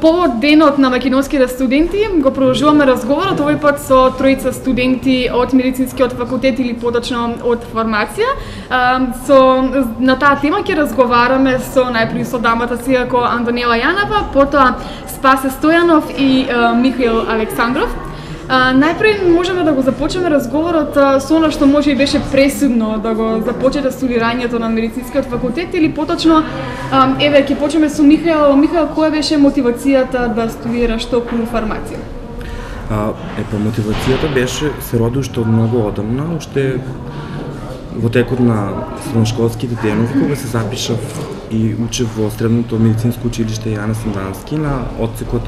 повод денот на македонските студенти го продолжуваме разговорот овој пат со тројца студенти од медицинскиот факултет или поточно од фармација. На таа тема ќе разговараме со најпрви со дамата си како Антонела Јанова, потоа Спасе Стојанов и Михаил Александров. Најпред можеме да го започнеме разговорот со она што може и беше пресудно да го започнете студирањето на медицинскиот факултет или поточно еве ќе почнеме со Михаил. Михаил, која беше мотивацијата да студираш токму фармација? Мотивацијата беше се роди уште од многу одамна, уште во текот на средношколските денови кога се запишав и учев во средното медицинско училиште Јане Сандански на одсекот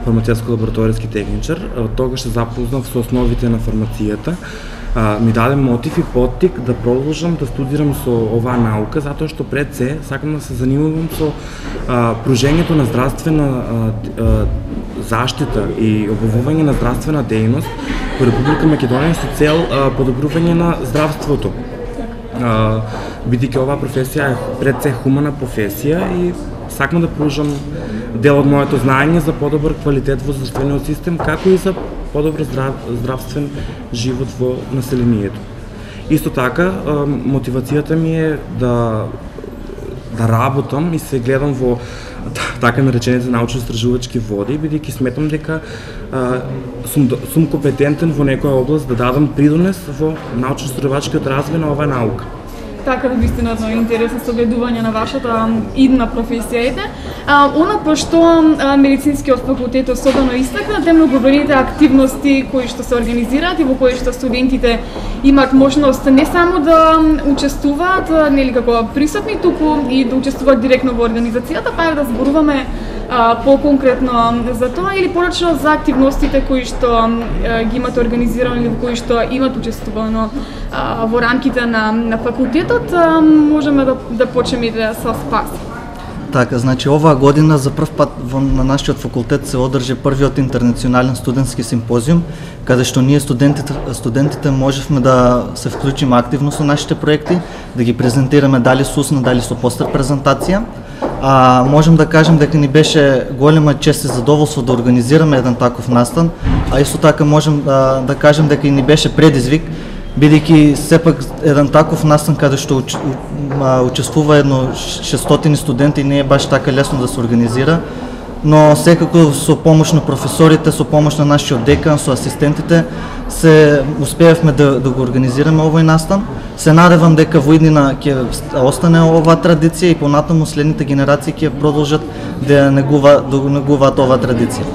фармацевско-лабораториски техничар. Тогаш се запознав со основите на фармацијата. Ми даде мотив и поттик да продолжам да студирам со оваа наука, затоа што пред се сакам да се занимавам со пружењето на здравствена заштита и обновување на здравствена дејност во Република Македонија со цел подобрување на здравството. Бидејќи оваа професија е пред се хумана професија и сакам да продолжам дел од моето знаење за подобар квалитет во здравствениот систем, како и за подобар здравствен живот во населението. Исто така, мотивацијата ми е да работам и се гледам во така наречените научно-истражувачки води, бидејќи сметам дека сум компетентен во некоја област да дадам придонес во научно-истражувачкиот развој на оваа наука. Така да вистина едно интересно согледување на вашата идна професија. Она по што медицинскиот факултет особено истакна, те многобројните активности кои што се организираат и во кои што студентите имаат можност не само да учествуваат, нели како присутни, туку и да учествуваат директно во организацијата, па да зборуваме по-конкретно за тоа или порачно за активностите кои што ги имате организирани или во кои што имат учествувано во рамките на факултетот. Можеме да почнеме со Спас. Така, значи оваа година за прв пат на нашиот факултет се одржи првиот интернационален студентски симпозиум, каде што ние студентите можевме да се вклучиме активно со нашите проекти, да ги презентираме дали со устна, дали со постер презентација. Можем да кажем дека ни беше голема чест и задоволство да организираме еден таков настан, а исто така можем да кажем дека и ни беше предизвик, бидејќи сепак еден таков настан каде што учествува едно 600 студенти не е баш така лесно да се организира, но секако со помош на професорите, со помош на нашиот декан, со асистентите, се успеавме да го организираме овој настан. Се надевам дека во иднина ќе остане оваа традиција и понатаму следните генерации ќе продолжат да негуваат оваа традиција.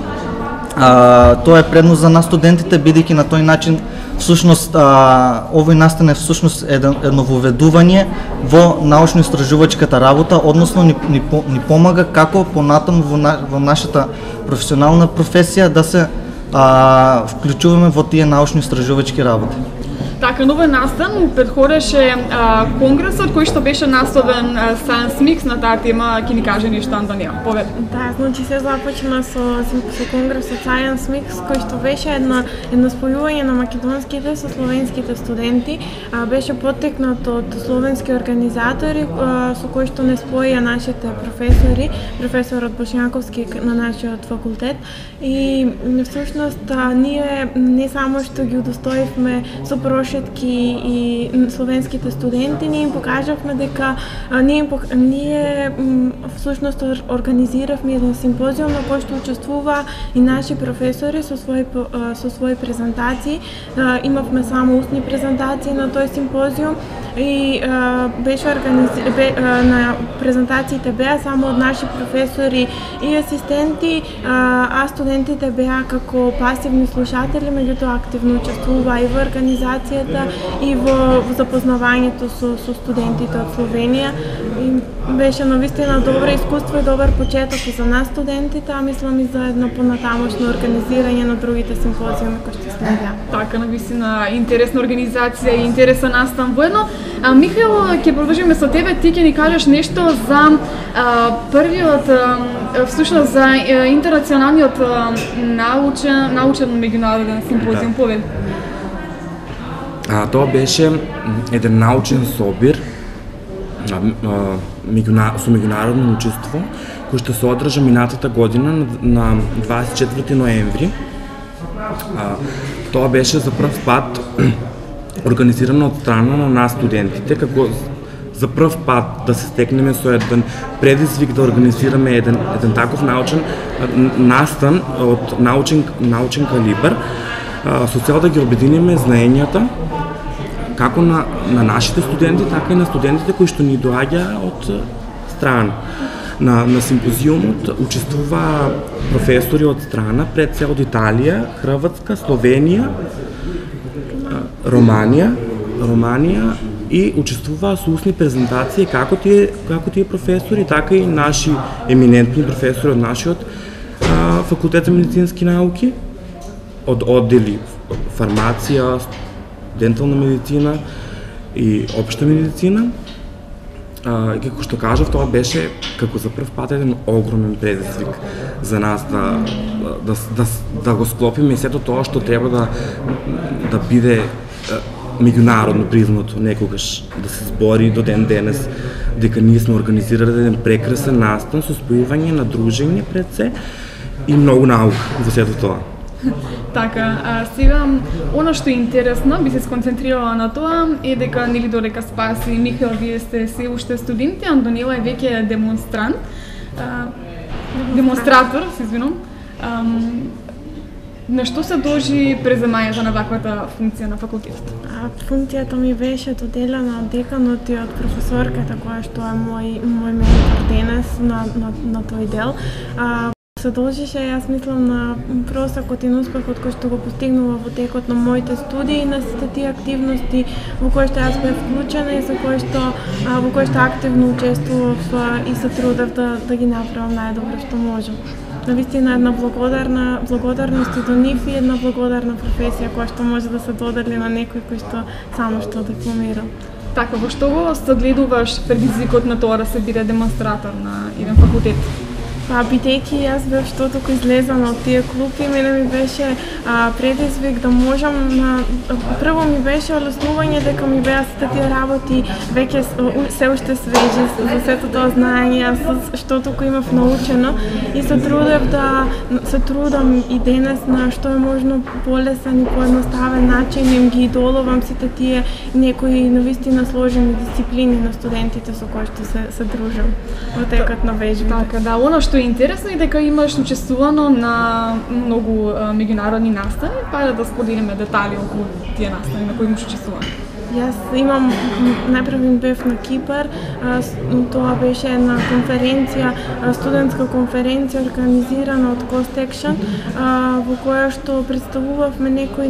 Тоа е предност за нас студентите, бидејќи на тој начин всушност овој настан е всушност едно воведување во научно-истражувачката работа, односно ни помага како понатаму во нашата професионална професија да се вклучуваме во тие научно-истражувачки работи. Така, новој настан предходеше конгресот кој што беше насловен Science Mix на таа тема, ќе ни каже нешто Антонија. Повед. Да, значи се започна со конгресот Science Mix кој што беше едно спојување на македонските со словенските студенти, беше поттекнат од словенски организатори со кои што не споја нашите професори, професорот Бошњаковски на нашиот факултет и всушност ние не само што ги удостоивме со прошетки и словенските студенти, ние им покажавме дека ние всушност организиравме еден симпозиум на кој што учествува и наши професори со своји презентации. Имавме само устни презентации на тој симпозиум и беше на презентациите беа само од наши професори и асистенти, а студентите беа како пасивни слушатели, меѓутоа активно учествуваа и во организацијата и во запознавањето со студентите од Словенија. И беше навистина добро искуство и добар почеток и за нас студентите, а мислам и за едно понатамошно организирање на другите симпозиуми кои што следеа. Така, навистина интересна организација и интересен настан воедно. Михаил, ќе продолжиме со тебе, ти ќе ни кажеш нешто за првиот, всушност за интернационалниот научен меѓународен симпозиум. Повед. Тоа беше еден научен собир со меѓународно учество кој што се одржа минатата година на 24 ноември. Тоа беше за прв пат организирано од страна на нас студентите, како за прв пат да се стекнеме со еден предизвик да организираме еден таков научен настан од научен калибар, со цел да ги обединиме знаењата како на нашите студенти, така и на студентите кои што ни доаѓа од страна. На симпозиумот учествуваа професори од страна пред се од Италија, Хрватска, Словенија, Романија и учествуваа со устни презентации како тие професори, така и наши еминентни професори од нашиот факултет за медицински науки, од оддели фармација, дентална медицина и општа медицина. И како што кажав, тоа беше како за прв пат еден огромен предизвик за нас да го склопиме и сето тоа што треба да биде меѓународно признато некогаш, да се збори до ден денес дека ние сме организирали еден прекрасен настан со спојување на дружење пред се и многу наука во сето тоа. Така, сега, оно што е интересно, би се сконцентрирала на тоа, е дека, нели додека Спаси и Михаел, вие сте се уште студенти, Антонела е веќе демонстратор, се извинувам. На што се дължи преземањето на таквата функција на факултетот? Функцијата ми беше доделена од деканот и од професорката, која што е мој ментор денес на тој дел. Се должише, јас мислам, на просекот и успехот кој што го постигнува во текот на моите студии, на сите тие активности во кои што јас бев вклучена и во кои што активно учествував и се трудев да ги направам најдобро што можам. Навистина една благодарност и до нив и една благодарна професија која што може да се додели на некој кој што само што дипломира. Така, во што го согледуваш предизвикот на тоа да се биде демонстратор на еден факултет? Бидејќи јас бев што току излезана од тие клупи, мене ми беше предизвик да можам прво ми беше олеснување дека ми беа сите тие работи веќе се уште свежи за сето тоа знаење, јас што току имав научено и се трудам и денес на што е можно полесен и поедноставен начин им ги идолувам сите тие некои навистина сложени дисциплини на студентите со кои што се дружам во текот на вежбите. Така, да, оно што е интересно е дека имаш учествувано на многу меѓународни настани, па да споделиме детали околу тие настани на кои имаш учествувано. Јас имам, најпрв бев на Кипар, тоа беше една конференција, студентска конференција организирана од Cost Action, во која што представувавме некои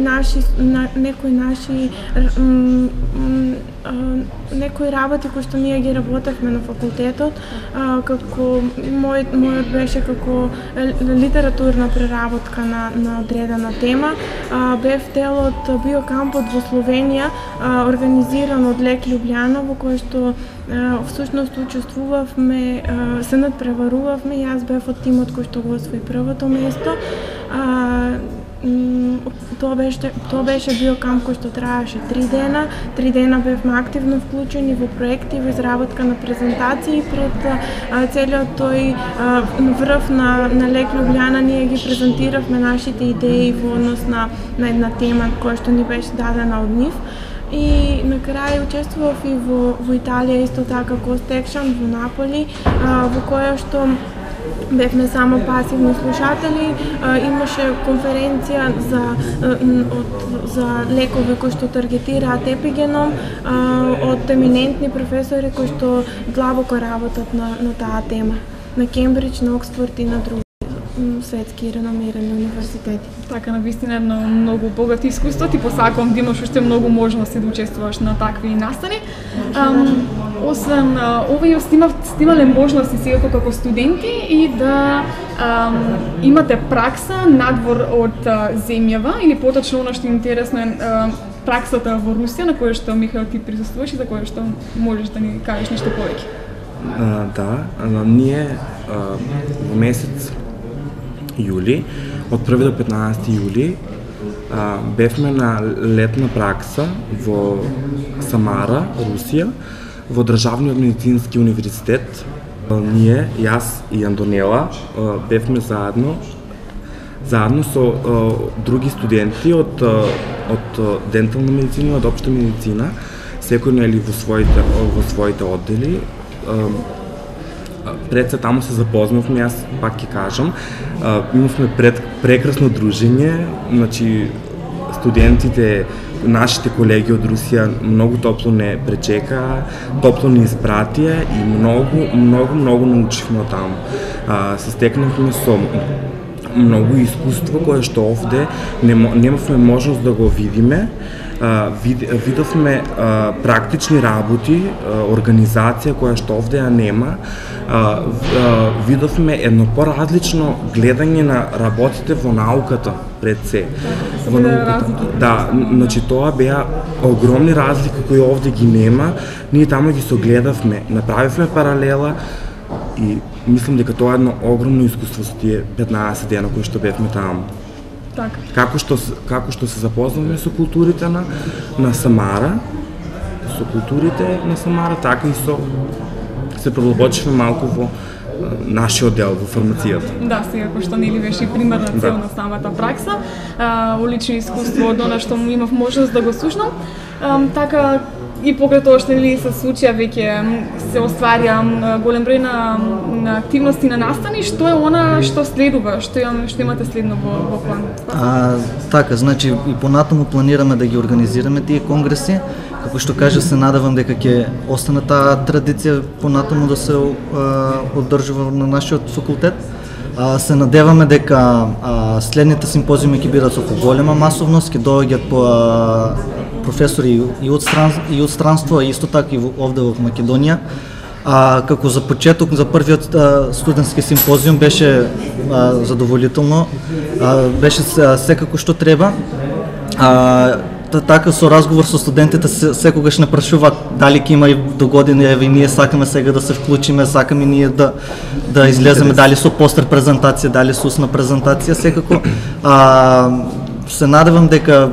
работи кои што ние ги работевме на факултетот, како мојот беше како литературна преработка на одредена тема. Бев дел од биокампот во Словенија, организиран од Лек Љубљана, во кој што всушност учествувавме, се надпреварувавме, јас бев од тимот кој што го освои првото место. Тоа беше биокамп кој што траеше 3 дена. 3 дена бевме активно вклучени во проекти, во изработка на презентации пред целиот тој врв на Лек Љубљана. Ние ги презентиравме нашите идеи во однос на една тема која што ни беше дадена од нив. И на крај учествував и во Италија исто така Cost Action во Наполи, во која што бевме само пасивни слушатели. Имаше конференција за лекови кои што таргетираат епигеном од еминентни професори кои што длабоко работат на таа тема, на Кембридж, на Оксфорд и на други светски реномирани универзитети. Така, навистина едно многу богато искуство. Ти посакувам да имаш уште многу можности да учествуваш на такви настани. Освен ова, снимале можности сега како студенти и да имате пракса надвор од земјава, или поточно оно што е интересно е праксата во Русија, на која што, Михаел, ти присуствуваш и за која што можеш да ни кажеш нешто повеќе. Ние во месец јули, од 1 до 15 јули, бевме на летна пракса во Самара, Русија, во Државниот медицински универзитет. Ние, јас и Андонела, бевме заедно со други студенти од дентална медицина и од општа медицина, секој нели во своите оддели. Пред се таму се запознавме, јас пак ќе кажам, имавме прекрасно дружење, значи студентите, нашите колеги од Русија многу топло не пречекаа, топло не испратија и многу научивме од таму. Се стекнавме со многу искуство кое што овде немавме можност да го видиме. Видовме практични работи, организација која што овде ја нема. Видовме едно поразлично гледање на работите во науката пред се. Да, значи тоа беа огромни разлики кои овде ги нема. Ние таму ги согледавме, направивме паралела и мислам дека тоа е едно огромно искуство со тие 15 дена кои што бевме таму. Како што се запознавме со културите на Самара, така и се продлабочивме малку во нашиот дел во фармацијата. Да, сега кој што нели беше примерна цел на самата пракса, улично искуство од она што имав можност да го слушнам, така и покрај тоа што нели се случија веќе се остварија голем број на активности на настани, што е она што следува, што имате следно во план? Така, значи и понатаму планираме да ги организираме тие конгреси. Како што кажа, се надевам дека ќе остане таа традиција понатаму да се одржува на нашиот факултет. Се надеваме дека следните симпозиуми ќе бидат со поголема масовност, ќе доаѓаат по професори и од странство, и исто така и овде во Македонија. Како за почеток, за првиот студентски симпозиум беше задоволително, беше секако што треба. Така со разговор со студентите секогаш не прашуваат дали ќе има и до година, еве и ние сакаме сега да се вклучиме, сакаме ние да излеземе дали со постер презентација, дали со устна презентација, секако се надевам дека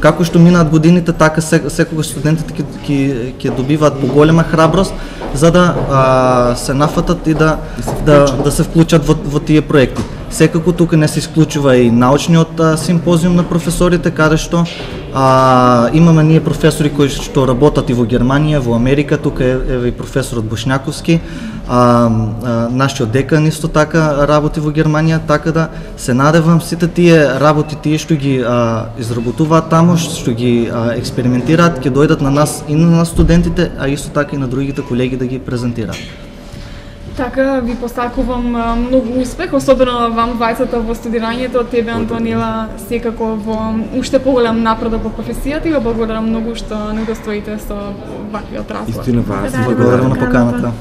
како што минаат годините, така секогаш студентите ќе добиваат поголема храброст за да се нафатат и да се вклучат во тие проекти. Секако тука не се исклучува и научниот симпозиум на професорите, каде што имаме ние професори кои што работат и во Германија, во Америка, тука е и професорот Бошњаковски, нашиот декан исто така работи во Германија, така да се надевам сите тие работи, тие што ги изработуваат таму, што ги експериментираат, ќе дојдат на нас и на нас студентите, а исто така и на другите колеги да ги презентираат. Така, ви посакувам многу успех, особено вам двајцата во студирањето, тебе Антонела секако во уште поголем напредок во професијата и го благодарам многу што не удостоите со ваквиот разговор. Истина вас. Благодарам на поканата.